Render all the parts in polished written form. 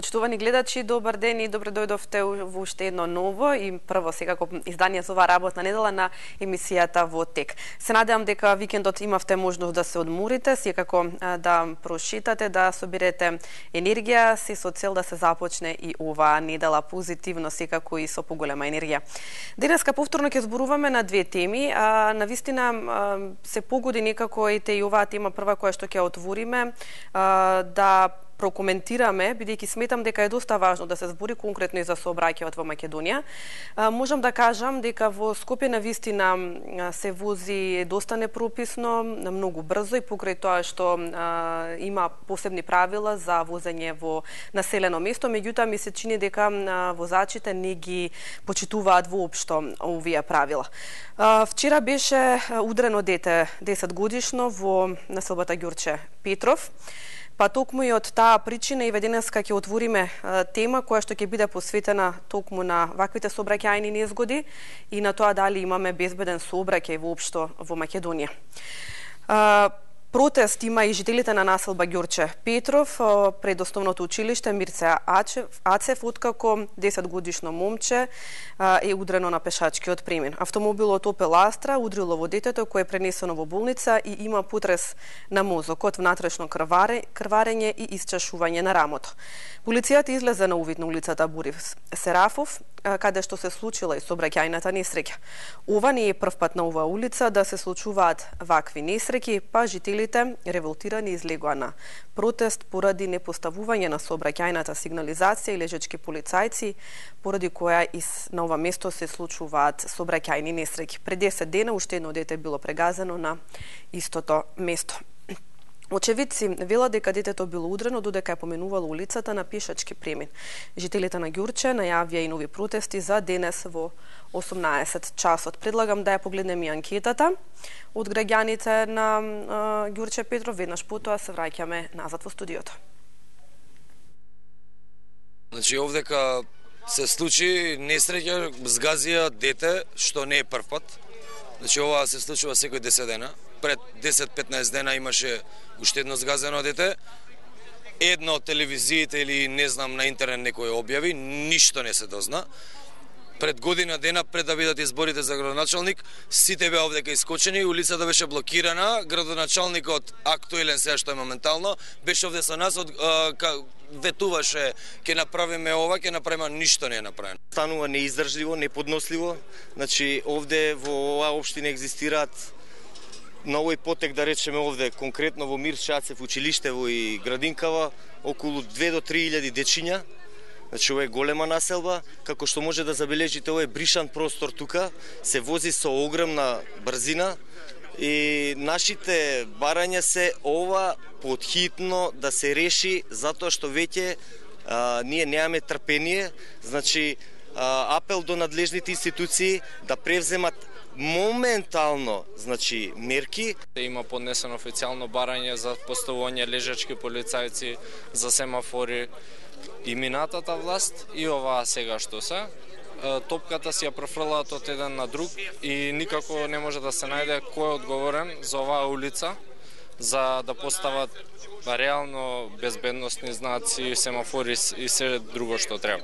Почитувани гледачи, добар ден и добро дојдовте во уште едно ново и прво секако издание за оваа работна недела на емисијата Во тек. Се надевам дека викендот имавте можност да се одморите, секако да прошетате, да соберете енергија, се со цел да се започне и оваа недела позитивно, секако и со поголема енергија. Денеска повторно ќе зборуваме на две теми, навистина се погоди некако и оваа тема прва која што ќе отвориме, да прокоментираме, бидејќи сметам дека е доста важно да се збори конкретно и за сообраќајот во Македонија. Можам да кажам дека во Скопје навистина се вози доста непрописно, многу брзо и покрај тоа што има посебни правила за возење во населено место, меѓутоа ми се чини дека возачите не ги почитуваат воопшто овие правила. Вчера беше удрено дете 10 годишно во населбата Ѓурче Петров. Па токму и од таа причина и денеска ќе отвориме тема која што ќе биде посветена токму на ваквите сообраќајни незгоди и на тоа дали имаме безбеден сообраќај воопшто во Македонија. Протест има и жителите на населба Ѓурче Петров пред основното училиште Мирце Ацев, откако 10 годишно момче е удрено на пешачкиот премин. Автомобилот Опел Астра удрило во детето кое е пренесено во болница и има потрес на мозокот, внатрешно крварење и исчашување на рамото. Полицијата излезе на увид на улицата Борис Серафов, каде што се случила и сообраќајната несреќа. Ова не е прв пат на оваа улица да се случуваат вакви несреќи, па жителите револтирани излегоа на протест поради непоставување на сообраќајната сигнализација и лежачки полицајци, поради која и на ова место се случуваат сообраќајни несреќи. Пред 10 дена уште едно дете било прегазено на истото место. Очевидци велат дека детето било удрено додека е поменувало улицата на пешачки премин. Жителите на Ѓурче најавија и нови протести за денес во 18 часот. Предлагам да ја погледнеме и анкетата од граѓаните на Ѓурче Петров. Веднаш потоа се враќаме назад во студиото. Значи овдека се случи несреќа, згазија дете, што не е прв пат. Значи ова се случува секој 10 дена. Пред 10-15 дена имаше уште едно згазено дете. Едно од телевизиите или не знам на интернет некој објави, ништо не се дозна. Пред година дена, пред да бидат изборите за градоначалник, сите беа овдека искочени, улицата беше блокирана, градоначалникот актуелен сега што е моментално, беше овде со нас, ветуваше ќе направиме ова, ќе направиме, ништо не е направено. Станува неиздржливо, неподносливо. Значи овде во оваа општина екзистираат на овој потек, да речеме овде, конкретно во Мирце Ацев училиштево и градинкава, околу 2 до 3.000 дечиња. Значи ова е голема населба, како што може да забележите, ова е бришан простор тука, се вози со огромна брзина и нашите барања се ова потхитно да се реши, затоа што веќе ние немаме трпение. Значи апел до надлежните институции да превземат моментално, значи, мерки. Има поднесено официјално барање за поставување лежачки полицајци, за семафори и минатата власт и оваа сега што се. Топката си ја префрлаат од еден на друг и никако не може да се најде кој е одговорен за оваа улица, за да постават реално безбедносни знаци, семафори и се друго што треба.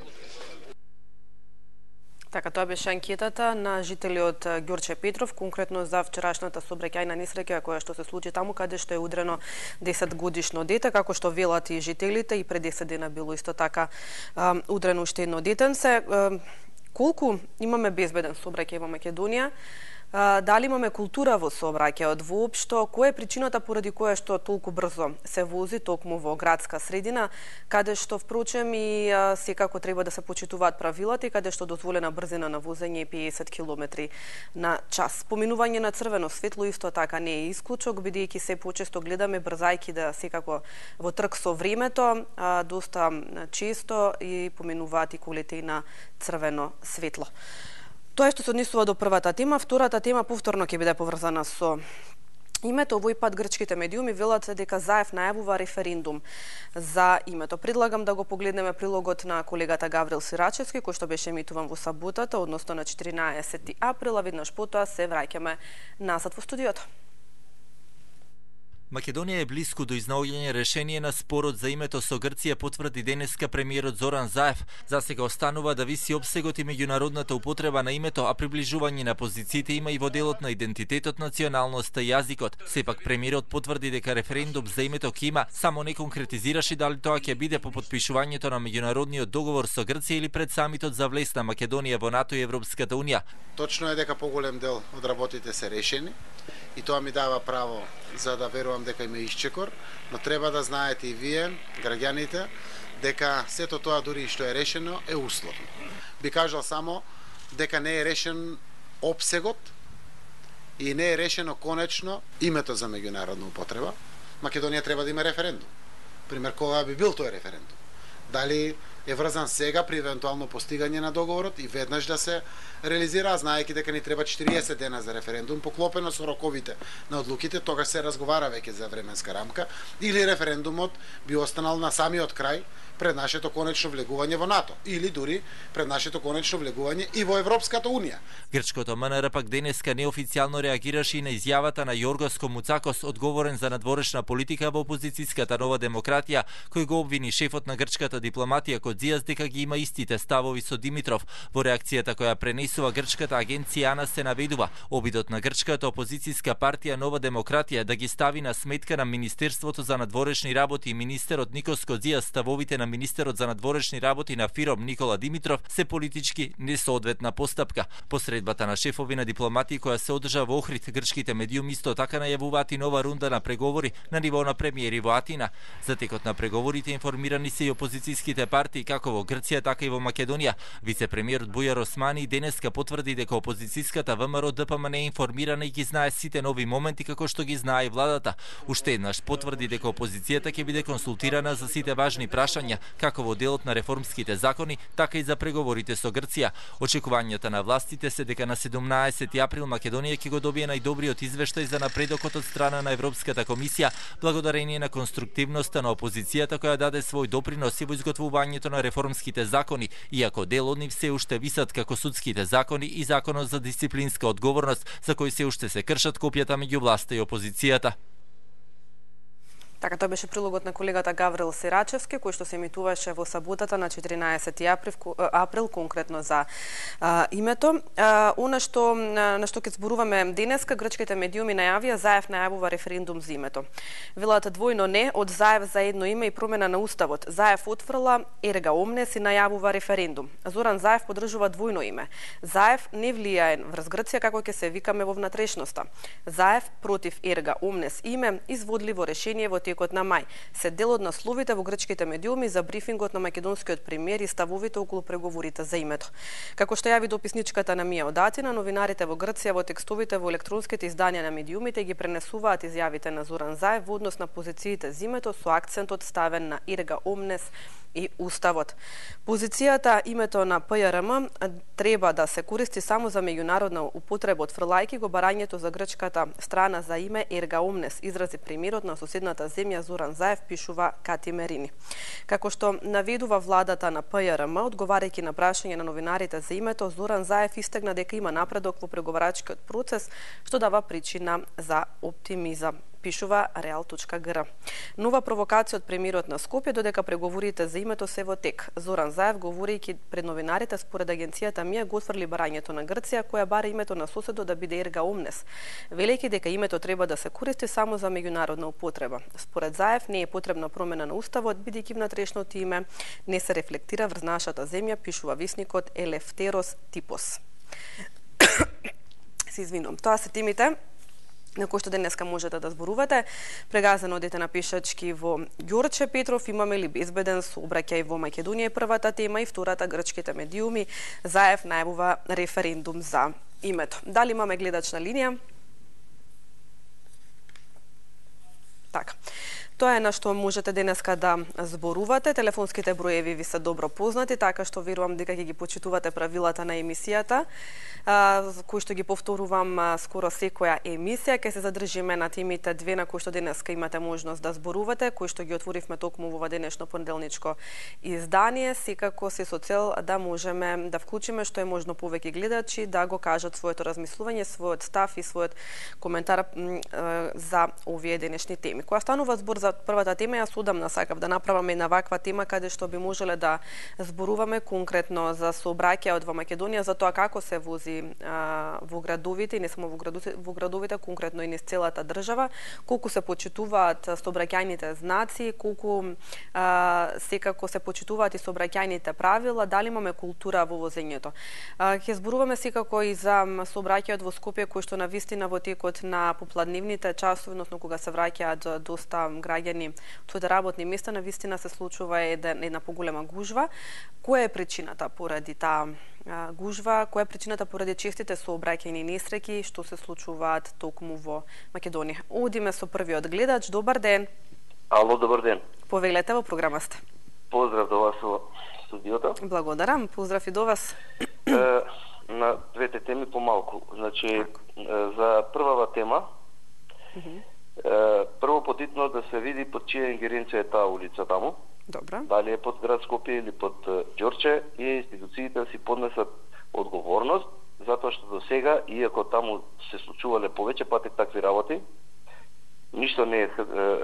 Така, тоа беше анкетата на жители од Ѓурче Петров, конкретно за вчерашната сообраќајна несреќа која што се случи таму каде што е удрено 10 годишно дете, како што велат и жителите, и пред 10 дена било исто така удрено уште едно детенце. Колку имаме безбеден сообраќај во Македонија? Дали имаме култура во сообраќајот воопшто? Која е причината поради која што толку брзо се вози токму во градска средина, каде што впрочем и секако треба да се почитуваат правилата и каде што дозволена брзина на возење е 50 км на час. Поминување на црвено светло исто така не е исклучок, бидејќи се почесто гледаме брзајки да секако во трк со времето, доста често и поминуваат и колите и на црвено светло. Тоа што се однесува до првата тема. Втората тема повторно ќе биде поврзана со името. Овој пат грчките медиуми велат дека Заев најавува референдум за името. Предлагам да го погледнеме прилогот на колегата Гаврил Сирачевски, кој што беше емитуван во саботата, односно на 14 април, а веднаш потоа се враќаме назад во студиото. Македонија е блиску до изнаоѓање решение на спорот за името со Грција, потврди денеска премиерот Зоран Заев. Засега останува да виси опсегот и меѓународната употреба на името, а приближување на позициите има и во делот на идентитетот, националноста и јазикот. Сепак премиерот потврди дека референдум за името ќе има, само не конкретизираше дали тоа ќе биде по потпишувањето на меѓународниот договор со Грција или пред самитот за влез на Македонија во НАТО и Европската унија. Точно е дека поголем дел од работите се решени и тоа ми дава право за да верувам дека има исчекор, но треба да знаете и вие, граѓаните, дека сето тоа дури што е решено е условно. Би кажал само дека не е решен опсегот и не е решено конечно името за меѓународна употреба. Македонија треба да има референдум. Пример, кога би бил тој референдум? Дали е врзан сега при евентуално постигање на договорот и веднаш да се реализира, знаејќи дека ни треба 40 дена за референдум, поклопено со роковите на одлуките, тогаш се разговара веќе за временска рамка, или референдумот би останал на самиот крај пред нашето конечно влегување во НАТО, или дури пред нашето конечно влегување и во Европската унија. Грчкото МНР пак денеска неофицијално реагираше и на изјавата на Јоргос Комуцакос, одговорен за надворешна политика во опозицијската Нова демократија, кој го обвини шефот на грчката дипломатија Кодзијас дека ги има истите ставови со Димитров. Во реакцијата која пренесува грчката агенција АНА се наведува обидот на грчката опозицијска партија Нова демократија да ги стави на сметка на Министерството за надворешни работи и министерот Никос Кодзијас ставовите на министерот за надворешни работи на ФИРОМ Никола Димитров се политички несоодветна постапка. Посредбата на шефови на дипломатии која се одржа во Охрид, грчките медиуми исто така најавуваат и нова рунда на преговори на ниво на премиери во Атина. За текот на преговорите информирани се и опозицијските партии како во Грција, така и во Македонија. Вице-премиерот Бујар Османи денеска потврди дека опозицијската ВМРО ДПМН е информирана и ги знае сите нови моменти како што ги знае и владата. Уште еднаш потврди дека опозицијата ќе биде консултирана за сите важни прашања, како во делот на реформските закони, така и за преговорите со Грција. Очекувањата на властите се дека на 17 април Македонија ќе го добие најдобриот извештај за напредокот од страна на Европската комисија, благодарение на конструктивноста на опозицијата која даде свој допринос и во изготвувањето на реформските закони, иако дел од нив се уште висат како судските закони и законот за дисциплинска одговорност, за кој се уште се кршат копјата меѓу власта и опозицијата. Така, тоа беше прилогот на колегата Гаврил Сирачевски, кој што се емитуваше во саботата на 14 април, конкретно за името. На што ќе зборуваме денеска, грчките медиуми најавија, Заев најавува референдум за името. Велат двојно не, од Заев за едно име и промена на уставот. Заев отфрла ерга омнес и најавува референдум. Зоран Заев подржува двојно име. Заев не влијае врз Грција како ќе се викаме во внатрешноста. Заев против ерга омнес име изводливо решение во текот на мај. Се дел од насловите во грчките медиуми за брифингот на македонскиот премиер и ставовите околу преговорите за името. Како што јави дописничката на Мија Одатина, новинарите во Грција во текстовите во електронските изданија на медиумите ги пренесуваат изјавите на Зоран Заев во однос на позициите за името со акцентот ставен на ерга омнес и уставот. Позицијата името на ПЈРМ треба да се користи само за меѓународна употреба, отфрлајќи го барањето за грчката страна за име ерга омнес, изрази премиерот на соседната земја Зоран Заев, пишува Кати Мерини. Како што наведува владата на ПЈРМ, одговарајќи на прашање на новинарите за името, Зоран Заев истегна дека има напредок во преговарачкиот процес, што дава причина за оптимизам, пишува Real.gr. Нова провокација од премиерот на Скопје додека преговорите за името се во тек. Зоран Заев, говорејќи пред новинарите, според агенцијата Мија го отфрли барањето на Грција, која бара името на соседот да биде ерга омнес, велејќи дека името треба да се користи само за меѓународна употреба. Според Заев не е потребна промена на уставот, бидејќи внатрешното име не се рефлектира врз нашата земја, пишува весникот Елефтерос Типос. Се извинувам. Тоа се темите на кој што денеска можете да зборувате. Прегазано одете на пешачки во Ѓорче Петров, имаме ли безбеден сообраќај во Македонија, првата тема, и втората грчките медиуми, Заев најавува референдум за името. Дали имаме гледач на линија? Така. Тоа е на што можете денеска да зборувате. Телефонските броеви ви се добро познати, така што верувам дека ќе ги почитувате правилата на емисијата, кои што ги повторувам скоро секоја емисија. Ќе се задржиме на темите две на кои што денеска имате можност да зборувате, кои што ги отворивме токму во ова денешно понеделничко издание, секако се со цел да можеме да вклучиме што е можно повеќе гледачи да го кажат своето размислување, својот став и својот коментар за овие денешни теми. Кога станува збор за првата тема, јас одамна сакав да направам една ваква тема каде што би можеле да зборуваме конкретно за сообраќајот во Македонија, за тоа како се вози во градовите, и не само во градовите, конкретно и низ целата држава, колку се почитуваат сообраќајните знаци, колку секако се почитуваат и сообраќајните правила, дали имаме култура во возењето. Ќе зборуваме секако и за сообраќајот во Скопје, кој што навистина во текот на попладневните часови, односно кога се враќаат доста граѓани од своите работни места, навистина се случува една поголема гужва. Која е причината поради таа гужва? Која е причината поради честите сообраќајни несреќи што се случуваат токму во Македонија? Одиме со првиот гледач. Добар ден. Ало, добар ден. Повелете, во програма сте. Поздрав до вас во студиото. Благодарам. Поздрав и до вас. На двете теми помалку. Значи, за првава тема, прво потитно да се види под чија ингеренција е таа улица таму. Добра. Дали е под град Скопје или под Ѓорче, и институциите да си поднесат одговорност, затоа што до сега, иако таму се случувале повеќе пати такви работи, ништо не е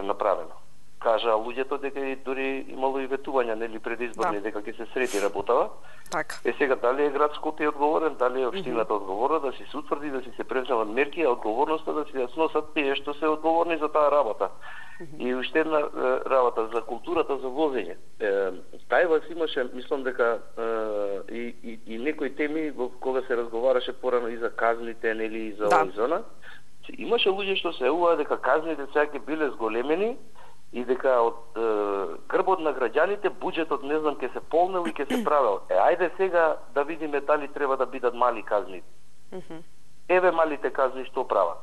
направено. Кажа луѓето дека и дури имало и ветувања, нели, предизборни, дека ќе се среди работава. Така. Сега дали е град Скопје одговорен, дали е општината одговорна, да си се утврди, да си се преземат мерки, а одговорноста да си ја сносат тие што се одговорни за таа работа. И уште една работа за културата за возење. Тај вас имаше, мислам дека и некои теми во кога се разговараше порано и за казните, нели, и за овој зона. Имаше луѓе што се јавуваа дека казните сега ќе биле зголемени и дека од грбот на граѓаните буџетот не знам ќе се полнел и ќе се правел. Ајде сега да видиме дали треба да бидат мали казни. Еве малите казни што прават.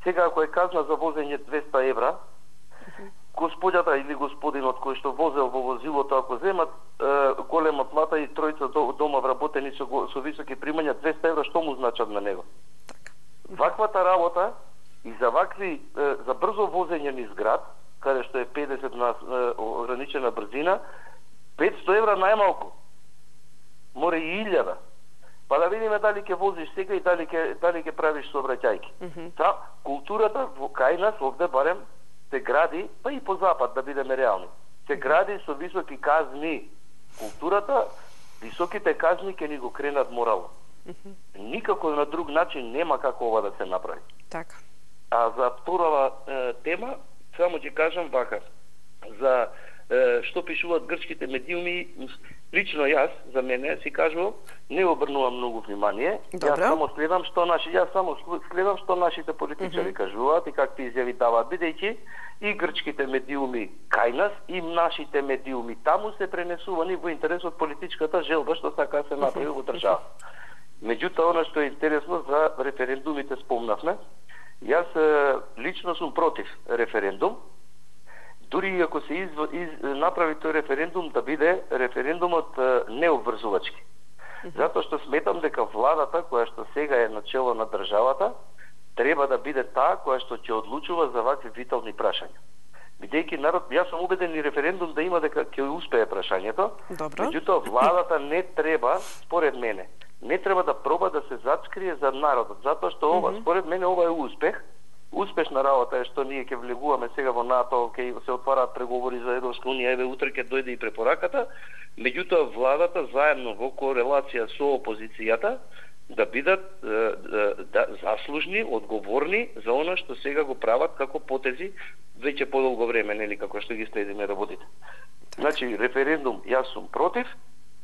Сега ако е казна за возење 200 евра, господјата или господинот кој што возел во возилото, ако земат голема плата и тројца дома вработени со високи примања, 200 евра што му значат на него? Ваквата работа и за вакви за брзо возење низ град, каде што е 50 на ограничена брзина, 500 евра најмалку. Море и 1000. Па да видиме дали ќе возиш сега и дали ќе правиш сообраќајки. Културата кај нас овде барем се гради, па и по запад да бидеме реални. Се гради со високи казни. Културата, високите казни ќе ни го кренат морално. Никако на друг начин нема како ова да се направи. Така. А за вторава тема, само ќе кажам вака. За што пишуваат грчките медиуми, лично јас, за мене, си кажувам, не обрнувам многу внимание. Јас само следам што нашите политичари кажуваат и какви изјави даваат, бидејќи и грчките медиуми кај нас и нашите медиуми таму се пренесувани во интерес од политичката желба што сака се направи во држава. Меѓутоа, она што е интересно за референдумите спомнавме, јас лично сум против референдум, дури ако се направи тој референдум да биде референдумот необврзувачки. Затоа што сметам дека владата, која што сега е начело на државата, треба да биде таа која што ќе одлучува за вакви витални прашања. Бидејќи народ, јас сум убеден и референдум да има дека ќе успее прашањето, меѓутоа владата не треба, според мене, не треба да проба да се зачкрие за народот, затоа што ова, според мене, ова е успех. Успешна работа е што ние ќе влегуваме сега во НАТО, ќе се отвараат преговори за Европска унија, еве утре ќе дојде и препораката, меѓутоа владата заедно во корелација со опозицијата да бидат заслужни, одговорни за она што сега го прават како потези веќе подолго време, нели, како што ги следиме работите. Значи, референдум јас сум против,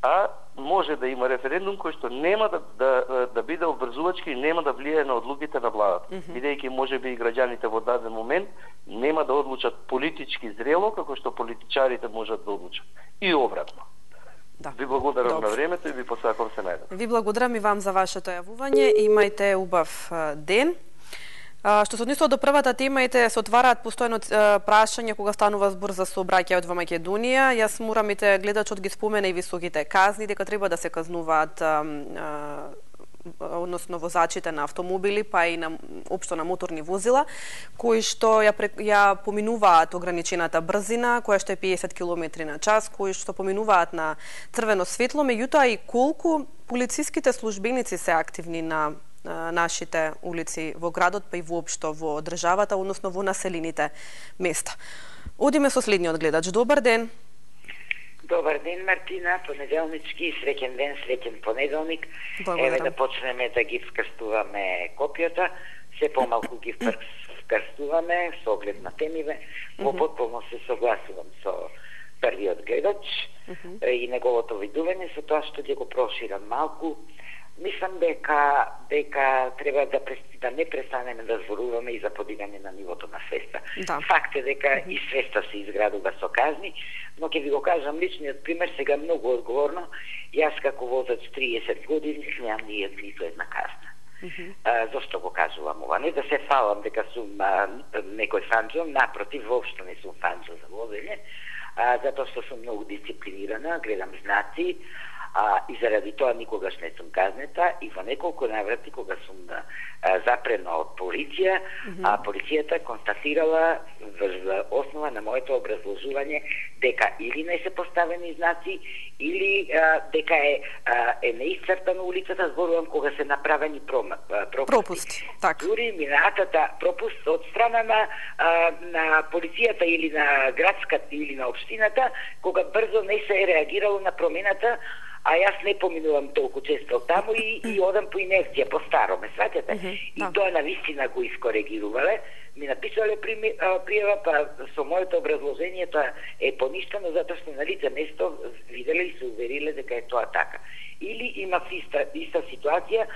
а може да има референдум кој што нема да биде обврзувачки и нема да влијае на одлуките на владата. Бидејќи можеби и граѓаните во даден момент нема да одлучат политички зрело како што политичарите можат да одлучат. И обратно. Ви благодарам на времето и ви посакувам се најдобро. Ви благодарам и вам за вашето јавување. Имајте убав ден. Што се однесува до првата тема, се отвараат постојано прашања кога станува збор за сообраќајот во Македонија. Јас морам гледачот ги спомена и високите казни, дека треба да се казнуваат односно возачите на автомобили, па и општо на моторни возила, кои што ја поминуваат ограничената брзина, која што е 50 км на час, кои што поминуваат на црвено светло, меѓутоа и колку полициските службеници се активни на нашите улици во градот, па и воопшто во државата, односно во населените места. Одиме со следниот гледач. Добар ден. Добар ден, Мартина, понеделнички, среќен ден, среќен понеделник. Еве да почнеме да ги вкрстуваме копијата, се помалку ги вкрстуваме со оглед на темиве. Во потполно се согласувам со првиот гледач и неговото видување, со тоа што ќе го проширам малку. Мислам дека треба да не престанеме да зборуваме и за подигање на нивото на свеста. Да. Факт е дека и свеста се изградува со казни, но ќе ви го кажам личниот пример сега многу одговорно. Јас како возач 30 години немам ниту една казна. Зошто го кажувам ова? Не да се фалам дека сум некој фанџо, напротив, воопшто не сум фанџо за возење, затоа што сум многу дисциплинирана, гледам знаци, и заради тоа никогаш не сум казнета и во неколку наврати кога сум запрена од полиција, полицијата констатирала во основа на моето образложување дека или не се поставени знаци или дека е неисцрпана улицата, зборувам кога се направени пропусти. Дури минатата пропуст од страна на полицијата или на градската или на општината, кога брзо не се реагирало на промената, а јас не поминувам толку често таму и одам по инерција, по старо, ме сваќате? И тоа на вистина го искоригирувале, ми написале пријава, па со моето образложение тоа е поништено затоа што на лице место виделе и се увериле дека е тоа така. Или има иста ситуација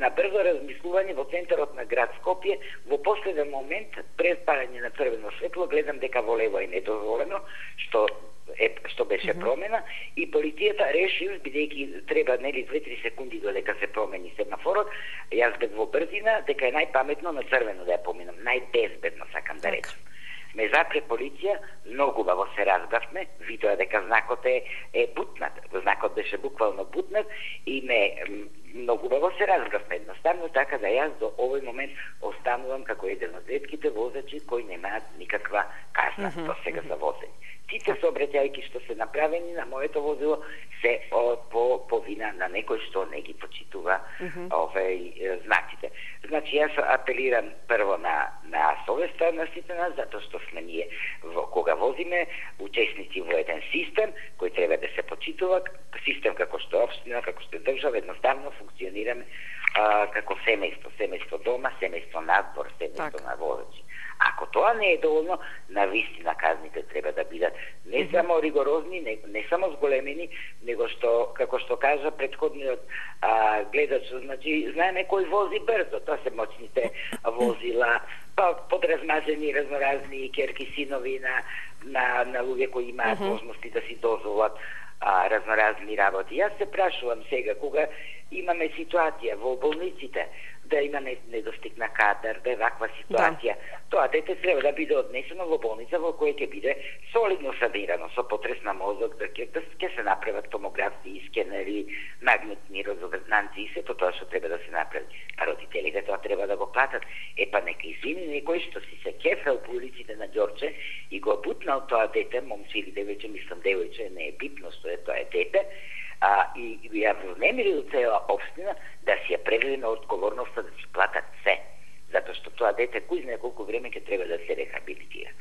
на брзо размислување во центарот на град Скопје, во последен момент пред парање на црвено светло гледам дека во лево е недозволено, што беше промена и полицијата реши, бидејќи треба 2-3 секунди додека се промени семафорот, јас бев во брзина, дека е најпаметно на црвено да ја поминам, најбезбедно сакам да речам. Ме запре полиција, многу убаво се разбравме, видоа дека знакот е бутнат, знакот беше буквално бутнат и многу убаво се разбравме, едноставно така да јас до овој момент останувам како еден од ретките возачи кои немаат никаква казна до сега за возење. Сите сообраќајки што се направени на моето возило се по вина на некој што не ги почитува знаците. Значи јас апелирам прво на совеста на сите нас, затоа што сме ние кога возиме учесници во еден систем кој треба да се почитува, систем како што општина, како што држава, едноставно функционираме како семејство дома, семејство надвор, семејство на возачи. Ако тоа не е доволно, навистина казните треба да бидат не само ригорозни, не само зголемени, него што, како што кажа предходниот гледач, значи, знаеме кој вози брзо, тоа се моćните возила, па подразмазени разноразни керки синови на луѓе кои имаат можности да си дозволат разноразни работи. Јас се прашувам сега, кога имаме ситуација во болниците, да има недостиг на кадар, да е ваква ситуација, тоа дете треба да биде однесено во болница во која ќе биде солидно санирано, со потрес на мозок, да ќе се направат томографски скенери, магнетни резонанци и сето тоа што треба да се направи. А родителите тоа треба да го платат. Па нека извини некој што си се кефел по улиците на Ѓорче и го бутнал тоа дете, момче или девојче, мислам девојче, не е битно што е тоа е дете, и ја внемирил цела општина да си ја преведе на одговорноста да си платат се. Затоа што тоа дете кој знае колку време ќе треба да се рехабилитира.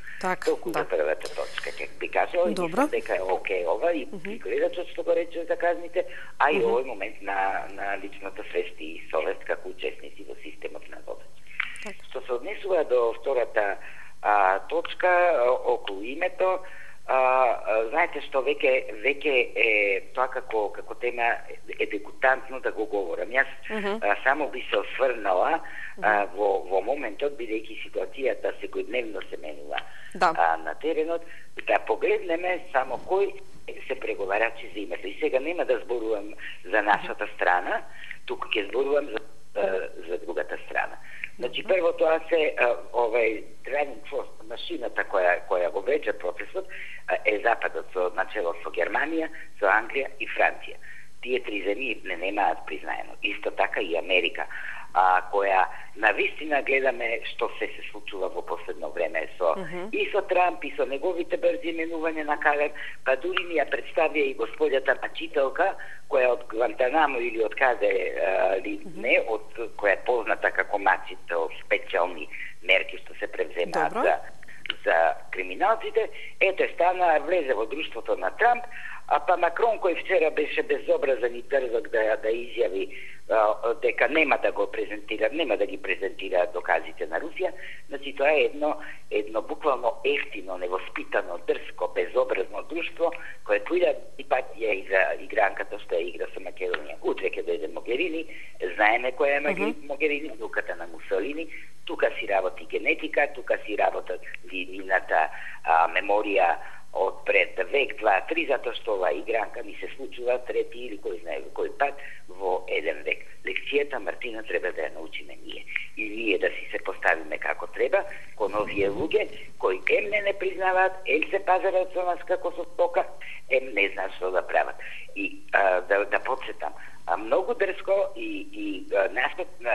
Толку за првата точка ќе би кажала и мислам дека е окей ова и гледачот што го рече за казните, а и овој момент на личната свест и совест како учесници во системот на водање. Што се однесува до втората точка околу името, знаете што веќе е тоа како тема е дегутантно да го говорам. Јас само би се осврнала во моментот, бидејќи ситуацијата секојдневно се менува на теренот, да погледнеме само кој се преговарачи за името. И сега нема да зборувам за нашата страна, туку ќе зборувам за другата страна. Значи, прво тоа се driving force, машината која го влече процесот е Западот со начело со Германија, со Англија и Франција. Тие три земји не немаат признаено. Исто така и Америка, која навистина гледаме што се случува во последно време и со Трамп и со неговите брзи именувања на Калер, па дури ни ја представија и господјата мачителка која од Гвантанамо или од каде не, која е позната како мачител, специјални мерки што се превземаат за криминалците. Ето стана, влезе во друштвото на Трамп, па Макрон кој вчера беше безобразен и дрзок да изјави дека нема да ги презентира доказите на Русија. Значи тоа е едно буквално ефтино, невоспитано, дрско, безобразно друштво кое поида и патија и за игранката што ја игра со Македонија. Утре ќе дојде Могерини, знаеме која е Могерини, внуката на Мусолини, тука си работи генетика, тука си работат нивната меморија од пред век, 2-3, затоа што ова игранка ни се случува трети или кој знае кој пат во еден век. Лекцијата, Мартина, треба да ја научиме ние. И ние да си се поставиме како треба, кон овие луѓе кои ем не признаваат, ем се пазарат со нас како со стока, ем не знаат што да прават. И да подсетам, многу дрско и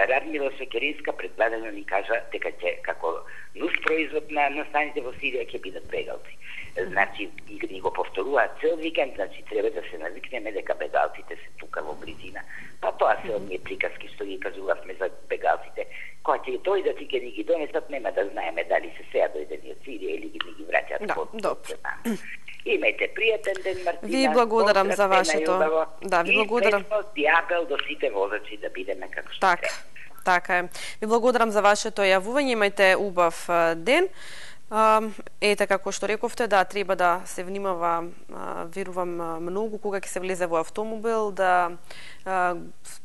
Радмила Шекеринска предвадено ни кажа дека ќе како нус производ на станите во Сирија ќе бидат бегалци. Значи, ни го повторуваат цел викенд, значи треба да се навикнеме дека бегалците се тука во близина. Па тоа се оние приказки што ги кажувавме за бегалците. Кога ќе дојдат и ќе ни ги донесат, нема да знаеме дали се сега дојдени од Сирија или ни ги враќаат од Имајте пријатен ден, Мартина. Ви благодарам за вашето. Да, ви благодарам. И апел до сите возачи да бидеме како што треба. Така е. Ви благодарам за вашето јавување. Имајте убав ден. Ете, како што рековте, да, треба да се внимава, верувам многу, кога ќе се влезе во автомобил, да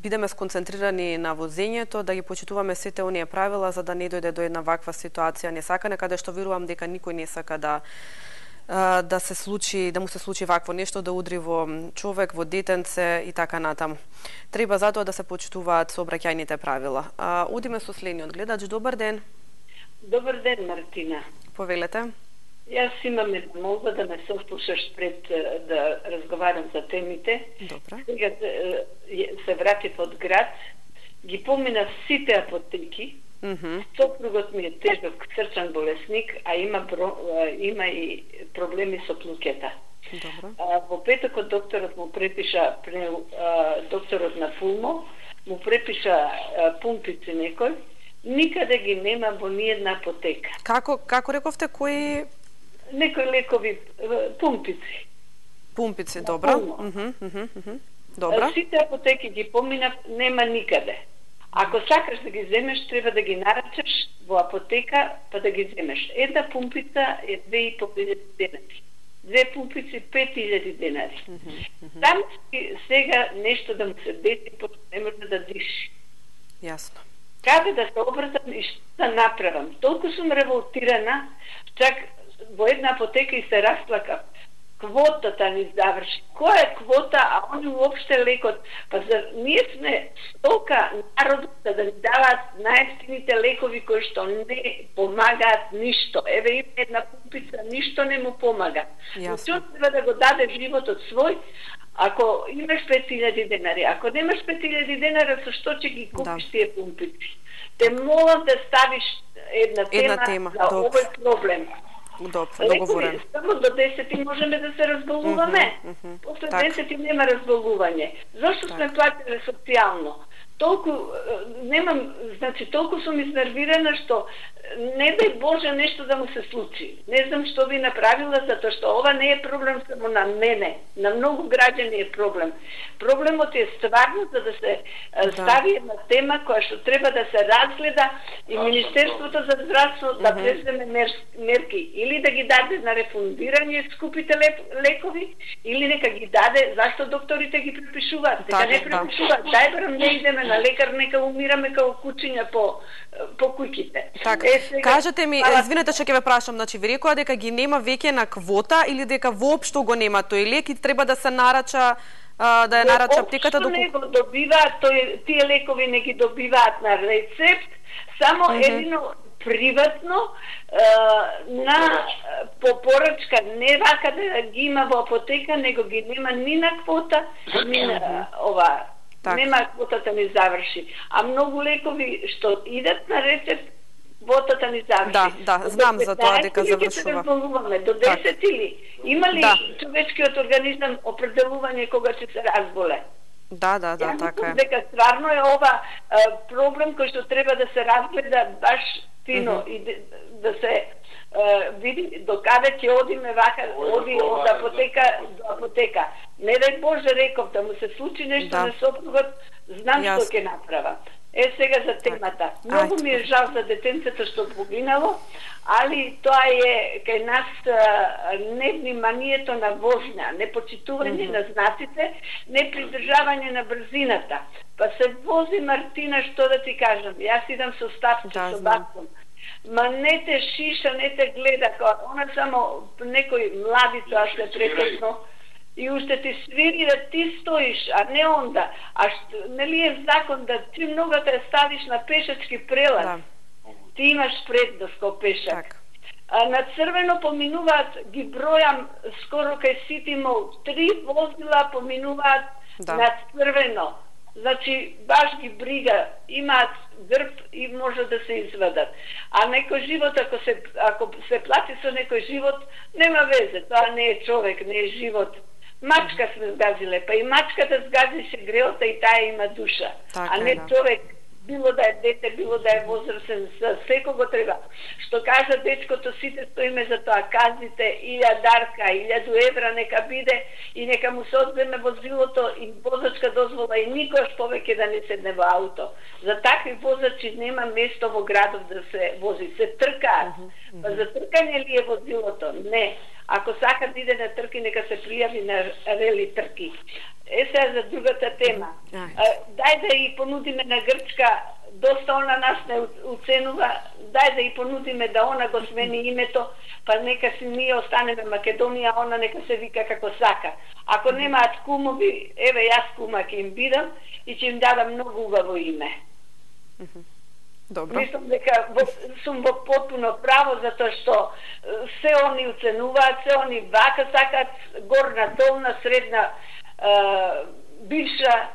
бидеме сконцентрирани на возењето, да ги почитуваме сите оние правила, за да не дојде до една ваква ситуација несакана, каде што верувам дека никој не сака да му се случи вакво нешто, да удри во човек, во детенце и така натаму. Треба затоа да се почитуваат сообраќајните правила. Одиме со следниот гледач. Добар ден. Добар ден, Мартина. Повелете. Јас имам една молба да ме сослушаш пред да разговарам за темите. Добра. Сега се вратив од град, ги поминав сите апотеки. Сопругот ми е тежок срчан болесник, а има и проблеми со плуќета. Во петокот докторот му препиша, докторот на Пулмо, му препиша пумпици некој, никаде ги нема во ниедна апотека. Како рековте, кои? Некои лекови, пумпици. Пумпици, добро. Добро. Сите апотеки ги поминав, нема никаде. Ако сакаш да ги земеш, треба да ги нарачаш во апотека, па да ги земеш. Една пумпица е 2.500 денари. 2 пумпици 5.000 денари. Там сега нешто да му се деси, пошто не може да диши. Јасно. Каде да се обратам и што да направам? Толку сум револтирана, чак во една апотека и се расплакав. Квотата ни заврши. Која е квота, а они уопште лекот? Па ние сме стока народот да ни даваат најевтините лекови кои што не помагаат ништо. Еве има една пумпица, ништо не му помага. Што треба да го даде животот свој? Ако имаш 5.000 денари, ако немаш 5.000 денари, со што ќе ги купиш тие пумпици? Те молам да ставиш една тема за овој проблем. Договорен. Само до 10 можеме да се разболуваме. После 10 нема разболување. Зошто сме платили социјално? Толку толку сум изнервирана што не дај Боже нешто да му се случи. Не знам што би направила, затоа што ова не е проблем само на мене, на многу граѓани е проблем. Проблемот е стварно за да се стави една тема која што треба да се разгледа и Министерството за здравство да преземе мерки или да ги даде на рефундирање скупите лекови или нека ги даде, зашто докторите ги препишуваат, дека не препишуваат. Дај барам не идеме на лекар, нека умираме како кучиња по куќите. Кажете ми, извинете што ќе ве прашам, значи ви рекоа дека ги нема веќе на квота или дека воопшто го нема тој лек и треба да се нарача да ја нарача аптеката не го добиваат, тие лекови не ги добиваат на рецепт, Само едино приватно на по порачка, не вака да ги има во апотека, него ги нема ни на квота, ни на ова. Нема квотата ни заврши. А многу лекови што идат на рецепт, квотата ни заврши. Да, знам за тоа дека завршува. До 10 или има ли човечкиот организам определување кога ќе се разболе? Да, така е. Дека стварно е ова проблем кој што треба да се разгледа баш фино и да се види до каде ќе одиме вака, оди од апотека до апотека. Не дај Боже, реков, да му се случи нешто на сопругот, знам што ќе направа. Сега за темата. Многу ми е жал за детенцето што погинало, али тоа е кај нас невниманието на возња, непочитување на знаците, непридржавање на брзината. Па се вози Мартина, што да ти кажам, јас идам со стапче, со батком. Ма не те шиша, не те гледа, она само некој младица, а се прекосно, и уште ти свири да ти стоиш, а не онда. Нели е закон да ти ногата ја ставиш на пешачки прелаз, ти имаш предност кој пешак. На црвено поминуваат, ги бројам скоро кај Сити Мол, 3 возила поминуваат на црвено. Значи, баш ги брига, имаат грб и може да се извадат. А некој живот, ако се плати со некој живот, нема везе, тоа не е човек, не е живот. Мачка сме сгазиле, па и мачката сгазише греота и таа има душа. А не човек, било да е дете, било да е возрастен, секого треба. Што кажа дечкото, сите стоиме за тоа, казите 1000 дарка, 1000 евра нека биде и нека му се одземе возилото и возачка дозвола и никош повеќе да не седне во ауто. За такви возачи нема место во градов да се вози, се тркаат. Па за тркање ли е возилото? Не. Ако сака да иде на трки, нека се пријави на рели трки. Сега за другата тема. Дај да и понудиме на Грчка, доста она нас не уценува, дај да и понудиме да она го смени името, па нека си ние останеме Македонија, она нека се вика како сака. Ако немаат кумови, еве јас кума ќе им бидам и ќе им дадам многу убаво име. Добро. Мислам дека сум во потпуно право, затоа што се они уценуваат, се они вака сакат, горна, долна, средна, бивша,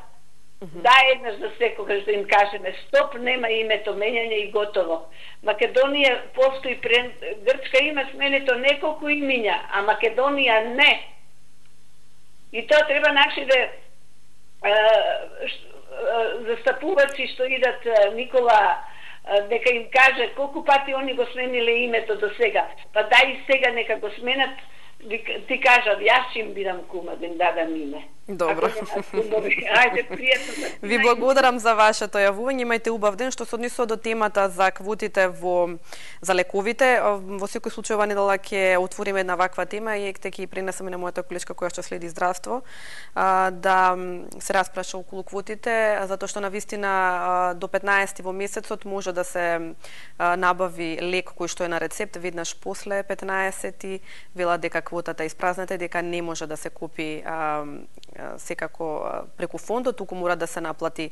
да еднаш за секогаш да им кажеме стоп, нема името менјање и готово. Македонија постои, Грчка има сменето неколку имиња, а Македонија не. И тоа треба нашите застапувачи што идат Никола дека им каже колку пати они го смениле името до сега. Па дај и сега нека го сменат, ти кажат, јас ќе им бидам кума, да им дадам име. Добро. Ајде, пријатно. Ви благодарам за вашето јавување. Имајте убав ден. Што се однесува до темата за квотите за лековите, во секој случај ова недела ќе отвориме една ваква тема и ќе пренесеме на мојата колешка која што следи здравство да се распраша околу квотите, затоа што навистина до 15 во месецот може да се набави лек кој што е на рецепт веднаш после 15 вела дека квотата е испразната и дека не може да се купи секако преку фондот, туку мора да се наплати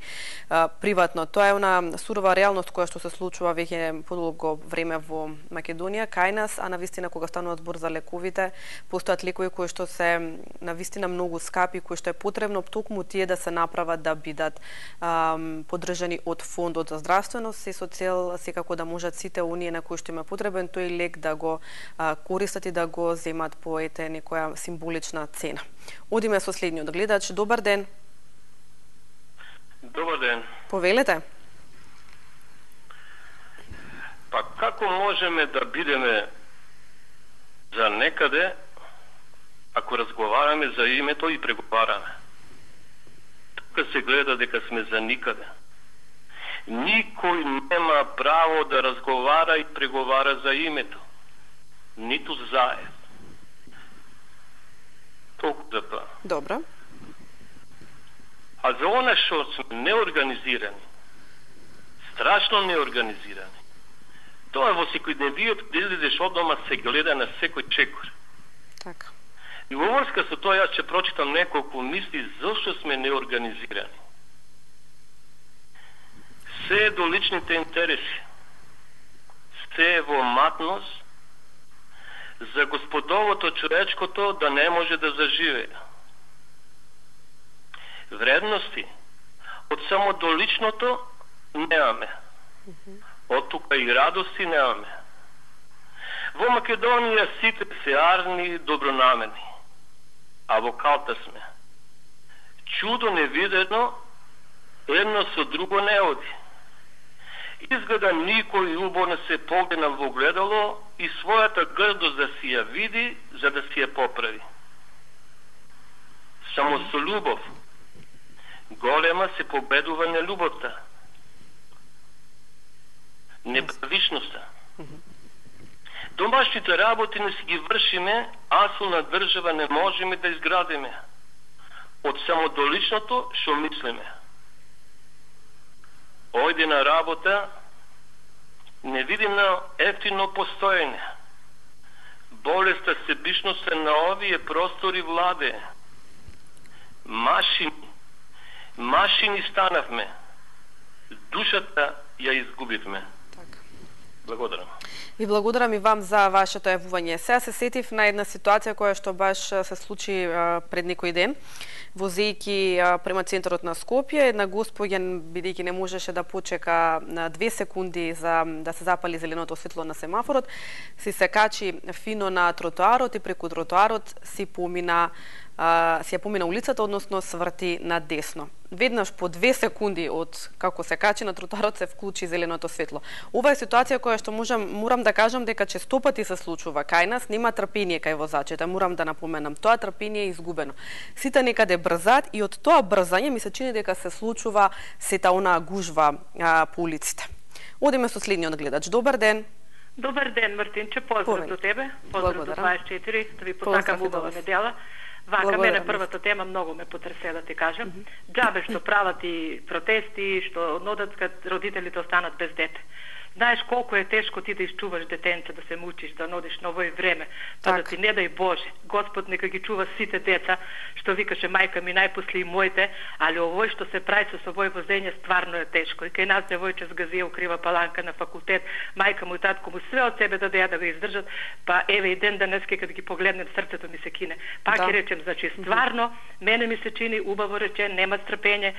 приватно. Тоа е она сурова реалност која што се случува веќе подолго време во Македонија, кај нас, а навистина кога станува збор за лековите, постојат лекови кои што се навистина многу скапи, кои што е потребно токму тие да се направат да бидат поддржани од фондот за здравственост, се со цел секако да можат сите оние на кои што има потребен тој лек да го користат и да го земат по некоја символична цена. Одиме со следниот гледач. Добар ден. Добар ден. Повелете. Па како можеме да бидеме за некаде ако разговараме за името и преговараме? Тука се гледа дека сме за никаде. Никој нема право да разговара и преговара за името. Ниту заед. Толку за тоа. Добро. А за она што сме неорганизирани, страшно неорганизирани, тоа во секојдневиот излезеш од дома се гледа на секој чекор. Така. И во врска со тоа јас ќе прочитам неколку мисли зашто сме неорганизирани. се до личните интереси, се во матност, за господовото човечкото да не може да заживее. Вредности од само до личното немаме. Од тука и радости немаме. Во Македонија сите се арни и добронамерни, а во калта сме. Чудо невидено, едно со друго не оди. Изгледа никој убо не се погледна во гледало и својата грдост да си ја види, за да си ја поправи. Само со љубов голема се победува нелюбовта, неправичноста. Домашните работи не си ги вршиме, а со на држава не можеме да изградиме. Од само до личното шо мислиме. Ојде на работа, не видимо ефтино постоење. Болеста себичноста на овие простори владе. Машини станавме. Душата ја изгубивме. Благодарам. Ви благодарам и вам за вашето јавување. Сега се сетив на една ситуација која што баш се случи пред некој ден. Возејќи према центарот на Скопје, една госпоѓа, бидејќи не можеше да почека на 2 секунди за да се запали зеленото светло на семафорот, се качи фино на тротоарот и преку тротоарот си ја помина улицата, односно сврти на десно. Веднаш по 2 секунди од како се качи на тротоарот се вклучи зеленото светло. Ова е ситуација која што морам да кажам дека честопати се случува кај нас, нема трпение кај возачите, морам да напоменам, тоа трпение е изгубено. Сите некаде брзаат и од тоа брзање ми се чини дека се случува сета онаа гужва по улиците. Одиме со следниот гледач. Добар ден. Добар ден, Мартинче, поздрав до тебе, поздрав до 24, да ви посакам убава недела. Вака, мене првата тема многу ме потресе, да ти кажам. Џабе што прават и протести, што однодат кад родителите останат без дете. Знаеш колку е тешко ти да изчуваш детенце, да се мучиш, да нодиш на овој време, па да ти не дај Боже. Господ нека ги чува сите деца, што викаше мајка ми најпосле и моите, али овој што се прави со овој возење стварно е тешко. И кај нас девојче згазија укрива паланка на факултет, мајка му и татко му све од себе дадеа да го издржат, па еве и ден денеска кога ги погледнем срцето ми се кине. Пак ќе речем, значи стварно мене ми се чини убаво речен, нема страпење.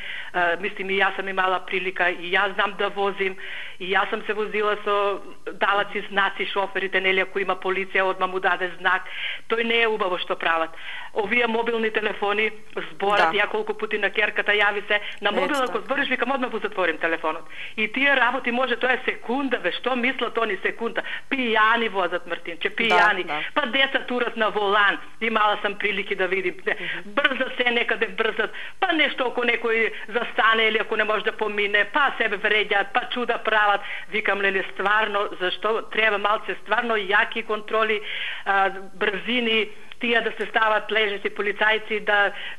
Мислим и јас сам имала прилика и јас знам да возим и јас сам се возила со далаци знаци шоферите, нели, ако има полиција, одма му даде знак. Тој не е убаво што прават. Овие мобилни телефони зборат, ја колку пати на керката јави се, на мобил ако збориш, викам одма го затворим телефонот. И тие работи може, тоа е секунда, бе, што мислат они секунда? Пијани возат, Мартинче, пијани. Па деца турат на волан, имала сам прилики да видим. Брза се некаде брзат, па нешто ако некој застане или ако не може да помине, па себе вреѓаат, па чуда прават. Викам, леле, стварно, зашто треба малце стварно јаки контроли, брзини, тие да се стават лежеци полицајци,